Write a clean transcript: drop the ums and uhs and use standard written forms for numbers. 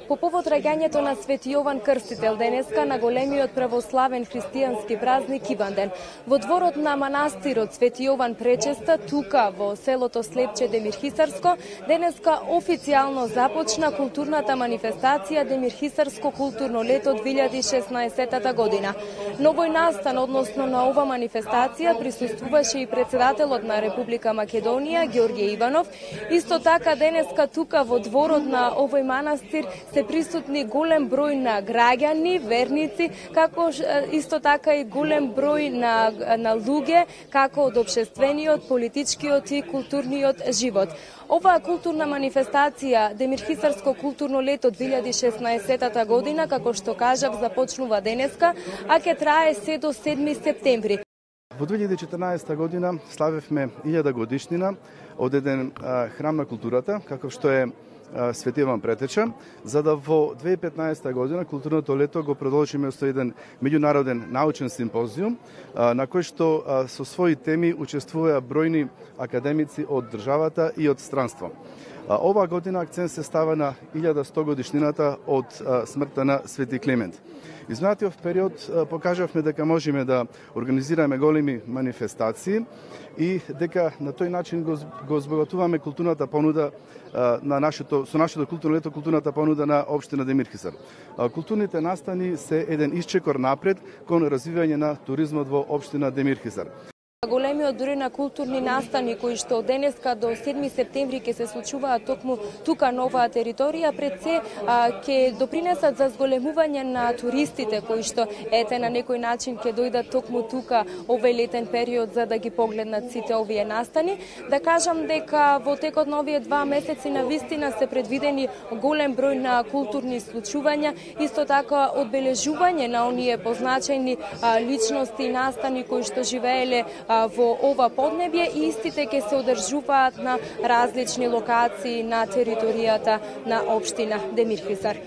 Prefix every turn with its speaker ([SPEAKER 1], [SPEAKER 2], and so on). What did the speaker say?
[SPEAKER 1] По повод раѓањето на Свети Јован Крстител денеска на големиот православен христијански празник Иванден, во дворот на манастирот Свети Јован Пречеста, тука во селото Слепче Демирхисарско, денеска официјално започна културната манифестација Демирхисарско културно лето 2016 година. На овој настан, односно на ова манифестација, присуствуваше и председателот на Република Македонија Ѓорѓе Иванов. Исто така денеска тука во дворот на овој манастир се присутни голем број на граѓани, верници, како исто така и голем број на луѓе, како од општествениот, политичкиот и културниот живот. Оваа културна манифестација Демирхисарско културно лето 2016 година, како што кажав, започнува денеска, а ќе трае се до 7 септември.
[SPEAKER 2] Во 2014 година славевме 1000 годишнина од еден храм на културата, каков што е Свети Јован Претеча, за да во 2015 година културното лето го продолжиме со еден меѓународен научен симпозиум, на кој што со своји теми учествуваа бројни академици од државата и од странство. Оваа година акцент се става на 1100 годишнината од смртта на Свети Климент. Изминатиот период покажавме дека можеме да организираме големи манифестации и дека на тој начин го збогатуваме културната понуда со нашето културно лето, културната понуда на општина Демирхисар. Културните настани се еден исчекор напред кон развивање на туризмот во општина Демирхисар.
[SPEAKER 1] Големиот број на културни настани кои што од денеска до 7 септември ќе се случуваат токму тука на оваа територија, пред се ќе допринесат за зголемување на туристите кои што на некој начин ќе дојдат токму тука овој летен период за да ги погледнат сите овие настани. Да кажам дека во текот на овие 2 месеци на вистина се предвидени голем број на културни случувања, исто така одбележување на оние позначајни личности и настани кои што живееле во ова поднебје и истите ќе се одржуваат на различни локации на територијата на општина Демирхисар.